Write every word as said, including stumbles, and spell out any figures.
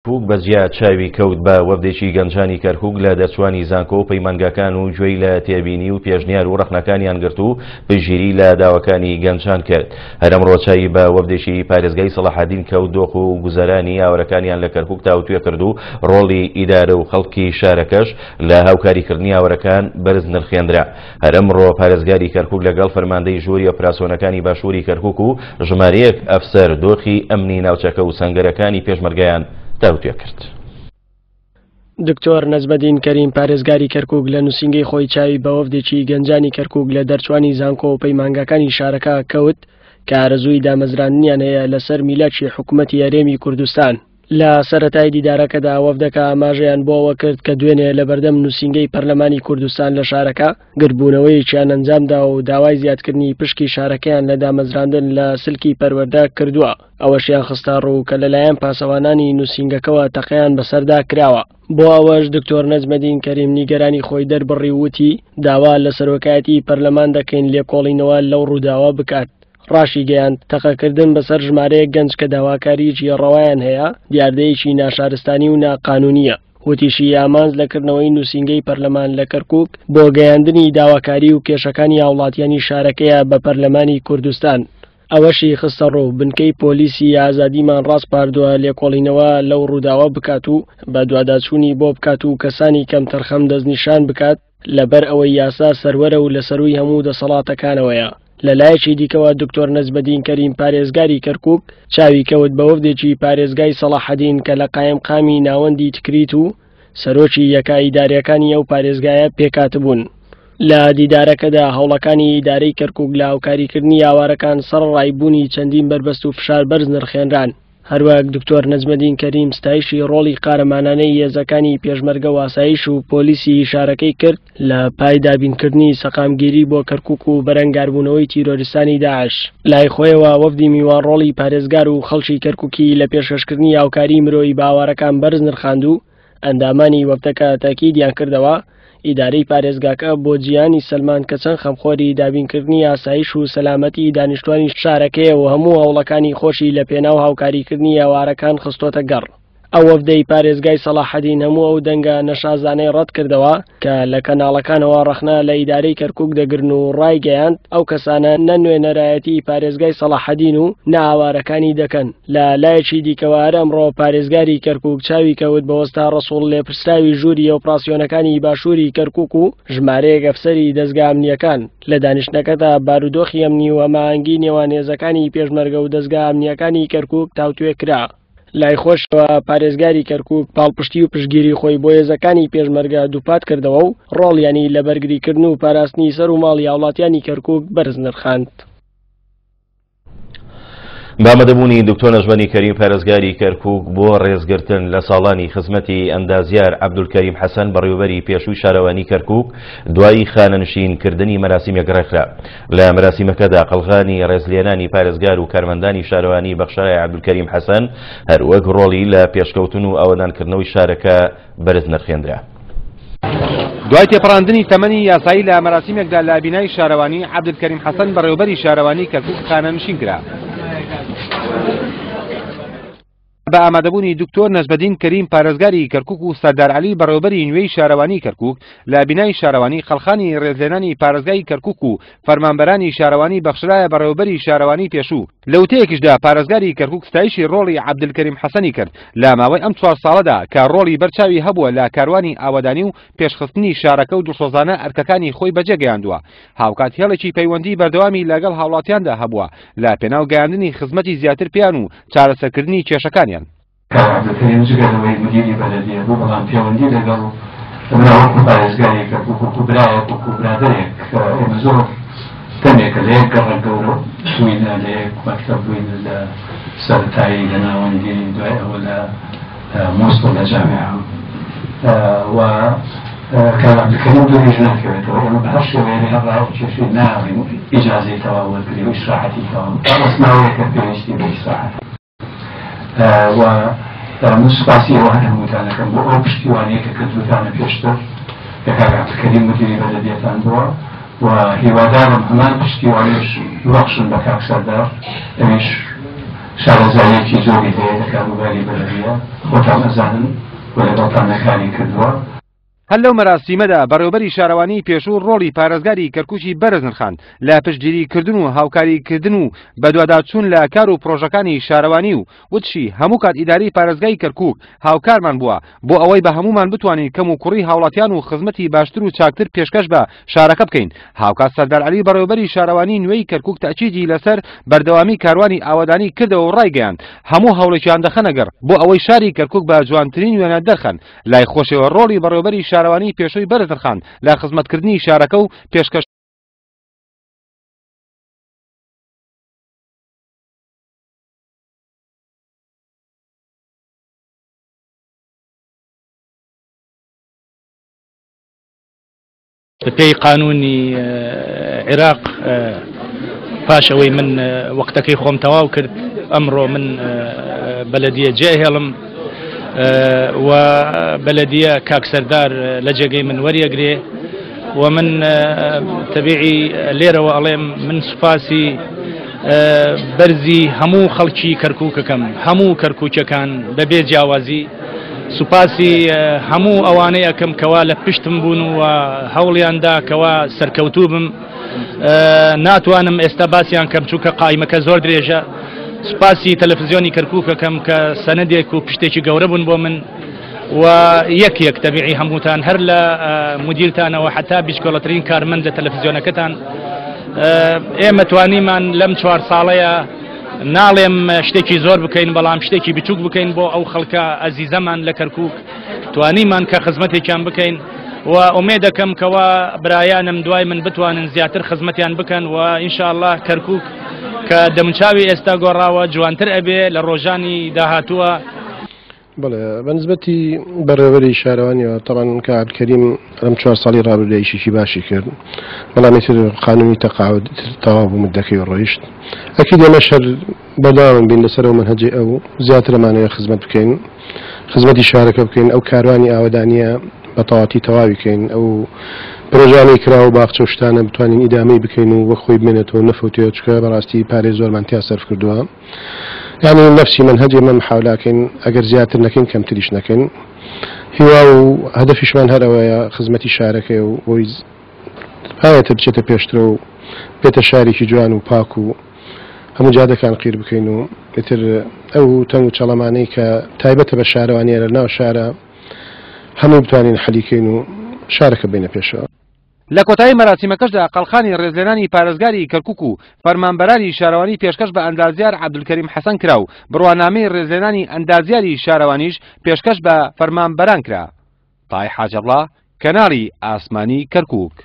کەرکوک بە جیا چاوی کەوت بە وەفدێکی گەنجانی کەرکوک لە دەرچوانی زانکۆ و پەیمانگاکان و گوێی لە تێبینی و پێشنیار و ڕەخنەکانیان گرت و پشتگیری لە داواکانی گەنجان کرد. هەر ئەمڕۆ چاوی بە وەفدێکی پارێزگای سەڵاحەدین کەوت، دۆخ و گوزەرانی ئاوارەکانیان لە کەرکوک تاوتوێ کرد و ڕۆڵی ئیدارە و خەڵکی شارەکەش لە هاوکاریکردنی ئاوارەکان بەرز نرخێنرا. هەر ئەمڕۆ پارێزگاری کەرکوک لەگەڵ فەرماندەی ژووری ئۆپراسیۆنەکانی باشووری کەرکوک و ژمارەیەک ئەفسەر دۆخی ئەمنی ناوچەکە و سەنگەرەکانی پێشمەرگەیان تاوتوێ کرد. دکتۆر نەجمەدین کەریم پارێزگاری کەرکوک لە نووسینگەی خۆی چاوی بە وەفدێکی گەنجانی کەرکوک لە دەرچوانی زانکۆ و پەیمانگاکانی شارەکە کەوت کە ئارەزووی دامەزراندنیان هەیە لەسەر میلاکی حکوومەتی هەرێمی کوردستان. لە سەرەتای دیدارەکەدا وەفدەکە ئاماژەیان بۆ ئەوە کرد کە دوێنێ لە بەردەم نووسینگەی پەرلەمانی کوردستان لە شارەکە گردبوونەوەیەکیان ئەنجامدا و داوای زیادکردنی پشکی شارەکەیان لە دامەزراندن لە سلکی پەروەردە کردووە. ئەوەشیان خستە ڕوو کە لەلایەن پاسەوانانی نووسینگەکەوە تەقەیان بەسەردا کراوە. بۆ ئەوەش دکتۆر نەجمەدین کەریم نیگەرانی خۆی دەربڕی وتی داوا لە سەرۆکایەتی پەرلەمان دەکەین لێکۆڵینەوە لەو ڕووداوە بکات. ڕاشیگەیاند تەقەکردن بەسەر ژمارەیەک گەنج کە داواکاریی ڕەوایان هەیە دیاردەیەکی ناشارستانی و ناقانونیە. وتیشی ئامانج لەکردنەوەی نووسینگەی پەرلەمان لە کەرکوک بۆ گەیاندنی داواکاری و کێشەکانی هاوڵاتیانی شارەکەیە بە پەرلەمانی کوردستان. ئەوەشی خستە ڕوو بنکەی پۆلیسی ئازادیمان ڕاسپاردووە لێکۆڵینەوە لەو ڕووداوە بکات و بەدواداچوونی بۆ بکات و کەسانی کەمتەرخەم دەستنیشان بکات لەبەر ئەوەی یاسا سەروەرە و لەسەرووی هەموو دەسەڵاتەکانەوەیە. لە لایەکی دیکەوە دکتۆر نەجمەدین کەریم پارێزگاری کەرکوک چاوی کەوت بە وەفدێکی پارێزگای سەڵاحەدین کە لە قایمقامی ناوەندی تکریت و سەرۆکی یەکە ئیداریەکانی ئەو پارێزگایە پێکهاتبوون. لە دیدارەکەدا هەوڵەکانی ئیدارەی کەرکوک لە هاوکاریکردنی ئاوارەکان سەرەڕای بوونی چەندین بەربەست و فشار بەرز نرخێنران. هەروەک دکتۆر نەجمەدین کەریم ستایشی ڕۆڵی قارەمانانەی هێزەکانی پێشمەرگە و ئاسایش و پۆلیسی شارەکەی کرد لە پای دابینکردنی سەقامگیری بۆ کەرکوک و بەرەنگاربوونەوەی تیرۆریستانی داعش. لای خۆیەوە وەفدی میوان ڕۆڵی پارێزگار و خەڵکی کەرکوکی لە پێشکەشکردنی هاوکاری مرۆیی بە ئاوارەکان بەرز نرخاند و ئەندامانی وەفدەکە تاکیدیان کردەوە ئیدارەی پارێزگاکە بۆ جیهانی سەلمان کە چەند خەمخۆری دابینکردنی ئاسایش و سەلامەتی دانیشتوانی شارەکەیە و هەموو هەوڵەکانی خۆشی لە پێناو هاوکاریکردنی ئاوارەکان خستۆتە گەڕ. ئەو وەفدەی پارێزگای سەڵاحەدین هەموو ئەو دەنگە نەشازانەی ڕەت کردەوە کە لە کەناڵەکانەوە ڕەخنە لە ئیدارەی کەرکوک دەگرن و ڕایگەیاند ئەو کەسانە نە نوێنەرایەتی پارێزگای سەڵاحەدین و نە ئاوارەکانی دەکەن. لە لایەکی دیکەوە هەر ئەمڕۆ پارێزگاری کەرکوک چاوی کەوت بە وەستا ڕەسوڵ لێپرسراوی ژووری ئۆپراسیۆنەکانی باشووری کەرکوک و ژمارەیەک ئەفسەری دەزگا ئەمنیەکان. لە دانیشتنەکەدا بارودۆخی ئەمنی و هەماهەنگی نێوان هێزەکانی پێشمەرگە و دەزگا ئەمنیەکانی کەرکوک تاوتوێ کرا. لای خۆشەوە پارێزگاری کەرکوک پاڵپشتی و پشتگیری خۆی بۆ هێزەکانی پێشمەرگە دووپات کردەوە و ڕۆڵیانی لە بەرگریکردن و پاراستنی سەر و ماڵی هاوڵاتیانی کەرکوک بەرز نرخاند. بە ئامادەبوونی دکتۆر نەجمەدین کەریم پارێزگاری کەرکوک بۆ ڕێزگرتن لە ساڵانی خزمەتی ئەندازیار عەبدولکەریم حەسەن بەڕێوەبەری پێشووی شارەوانی کەرکوک دوای خانەنشینکردنی مەراسیمێک ڕێکخرا. لە مەراسیمەکەدا قەڵغانی ڕێزلێنانی پارێزگار و کارمەندانی شارەوانی بەخشرای عەبدولکەریم حەسەن هەروەک ڕۆڵی لە پێشکەوتن و ئاوەدانکردنەوەی شارەکە بەرز نرخێنرا. دوای تێپەڕاندنی تەمەنی یاسایی لە مەراسیمێکدا لە بینای شارەوانی عەبدولکەریم حەسەن بەڕێوەبەری شارەوانی کەرکوک خانەنشین کرا. بە ئامادەبوونی دکتۆر نەجمەدین کەریم پارێزگاری کەرکوک و سەردار عەلی بەڕێوەبەری نوێی شارەوانی کەرکوک لە بینای شارەوانی قەڵخانی ڕێزلێنانی پارێزگای کەرکوک و فەرمانبەرانی شارەوانی بەخشرایە بەڕێوەبەری شارەوانی پێشوو. لە وتەیەکیشدا پارێزگاری کەرکوک ستایشی ڕۆڵی عەبدولکەریم حەسەنی کرد لە ماوەی ئەم چوار ساڵەدا کە ڕۆڵی بەرچاوی هەبووە لە کاروانی ئاوەدانی و پێشخستنی شارەکە و دڵسۆزانە ئەرکەکانی خۆی بەجێگەیاندووە. هاوکات هێڵێکی پەیوەندی بەردەوامی لەگەڵ هاوڵاتیاندا هەبووە لە پێناو گەیاندنی خزمەتی زیاتر پێیان و چارەسەرکردنی کێشەکانیان. کاک عەبدولکەریم جگە لەوەی مدیری بەلەدیە بوو بەڵام پەیوەندی لەگەڵ منە وەکو پارێزگارێک وەکو برایەک وەکو برادەرێک ئێمە زۆر دەمێکە لە یەک گەڕەک گەورە بووینە، لە یەک مەکتەب بووینە، لە سەرەتایی لە ناوەندی، دوای ئەوە لە مۆسڵ لە جامیعە و کاک عەبدولکەریم دووریش ناکەوێتەوە. ئێمە بە هەر شێوەیە هەر ڕاکێشی ناڵین ئیجازەی تەواو وەرگری و ئیسراحەتی تەواو ڕەسماوەیەکە پێویستی بە ئیسراحەت و من سوپاسی ئەوە هەر هەمووتان دەکەم بۆ ئەو پشتیوانەیە کە کردووتانە پێشتر کە کاک عەبدولکەریم مدیری بەلەدیەتان بووە و هیوادارم هەمان پشتیوانیش ببەخشن بە کاک سەردار، ئەویش شارەزاییەکی زۆری هەیە لە کاروباری بەلەدیە، خۆتان ئەزانن و لەگەڵتان نەکاری کردووە. هەر لەو مەراسیمەدا بەڕێوەبەری شارەوانی پێشوو ڕۆڵی پارێزگاری کەرکوکی بەرز نرخاند لە پشتگیریکردن و هاوکاریکردن و بەدواداچوون لە کار و پرۆژەکانی شارەوانی و وتشی هەموو کات ئیداری پارێزگای کەرکوک هاوکارمان بووە بۆ ئەوەی بە هەمومان بتوانین کەم و کوڕی هاوڵاتیان و خزمەتی باشتر و چاکتر پێشکەش بە شارەکە بکەین. هاوکات سەردار عەلی بەڕێوەبەری شارەوانی نوێی کەرکوک تەئکیدی لەسەر بەردەوامی کاروانی ئاوەدانی کردەوە و ڕایگەیاند هەموو هەوڵێکیان دەخەنە گەڕ بۆ ئەوەی شاری کەرکوک بە جوانترین وێنە دەرخەن. لای خۆشەوە ڕۆڵی بەڕێوەبەری شارەوانی پێشووی بەرز نرخاند لە خزمەتکردنی شارەکە و پێشکەش بەپێی قانونی عێراق پاش ئەوەی من وەختەکەی خۆم تەواو کرد ئەمڕۆ من بەلەدیە جێهێڵم و بەلەدیە کاک سەردار لە جێگەی من وەریەگرێ و من تەبیعی لێرەوە ئەڵێم من سوپاسی بەرزی هەموو خەڵکی کەرکووکەکەم، هەموو کەرکووکەکان بەبێ جیاوازی سوپاسی هەموو ئەوانەی ئەەکەم کەوا لە پشتم بوون و هەوڵیاندا کەوا سەرکەوتوو بم. ناتوانم ئێستا باسییان کەم چونکە قایمەکە زۆر درێژە. سوپاسی تەلەڤیزیۆنی کەرکووکەکەم کە سەنەدێک و پشتێکی گەورە بوون بۆ من و یەک یەک تەبیعی هەمووتان هەر لە مدیرتانەوە حتا بیچکۆڵەترین کارمەند لە تەلەڤیزیۆنەکەتان. ئێمە توانیمان لەم چوار ساڵەیە ناڵێم شتێکی زۆر بکەین بەڵام شتێکی بچووک بکەین بۆ ئەو خەڵکە ئەزیزەمان لە کەرکووک، توانیمان کە خزمەتێکیان بکەین و ئومێد دەکەم کەوا برایانم دوای من بتوانن زیاتر خزمەتیان بکەن و ئینشاءالله کەرکووک کە دەمچاوی ئێستا گۆڕاوە جوانتر ئەبێ لە ڕۆژانی داهاتووە. بەڵێ بەنسبەتی بەڕێوەبەری شارەوانیەوە تەبعەن کە عەبدولکەریم ئەم چوار ساڵی ڕابردوو ئیشێکی باشی کرد، بەڵام ئیتر قانونی تەقاعد تەواو بوو مدەکەی ڕۆیشت. ئەکید ئێمەش هەر بەردەوام بین لەسەر ئەو مەنهەجەی ئەو، زیاتر ئەمانەوێ خزمەت بکەین، خزمەتی شارەکە بکەین، ئەو کاروانی ئاوەدانیە بە تەواتی تەواوی کەین، ئەو پرۆژانەی کرا و باخچە و شتانە بتوانین ئیدامەی بکەین و وەک خۆی بمێنێتەوە نەفەوتێت، چونکە بەڕاستی پارەی زۆرمان تیا سەرف کردووە. یعنی نفسی منهج ئێمە محاولاکەین ئەگەر زیاتر نەکەین کەمتریش نەکەین. هیوا و هەدەفیشمان هەر ئەوەیە خزمەتی شارەکەی و بۆی پایەتە بچێتە پێشترە و بێتە شارێکی جوان و پاک و هەموو جادەکان قیر بکەین و ئیتر ئەو تەنگ و چەڵەمانەی کە تایبەتە بە شارەوانیە لە ناو شارە هەموو بتوانین حەلیکەین و شارەکە بینە پێشەوە. لە کۆتایی مەراسیمەکەشدا قەڵخانی ڕێزلێنانی پارێزگاری کەرکوک و فەرمانبەرانی شارەوانی پێشکەش بە ئەندازیار عەبدولکەریم حەسەن کرا و بڕوانامەی ڕێزلێنانی ئەندازیاری شارەوانیش پێشکەش بە فەرمانبەران کرا. تای حاجەڵا، کەناڵی ئاسمانی کەرکوک.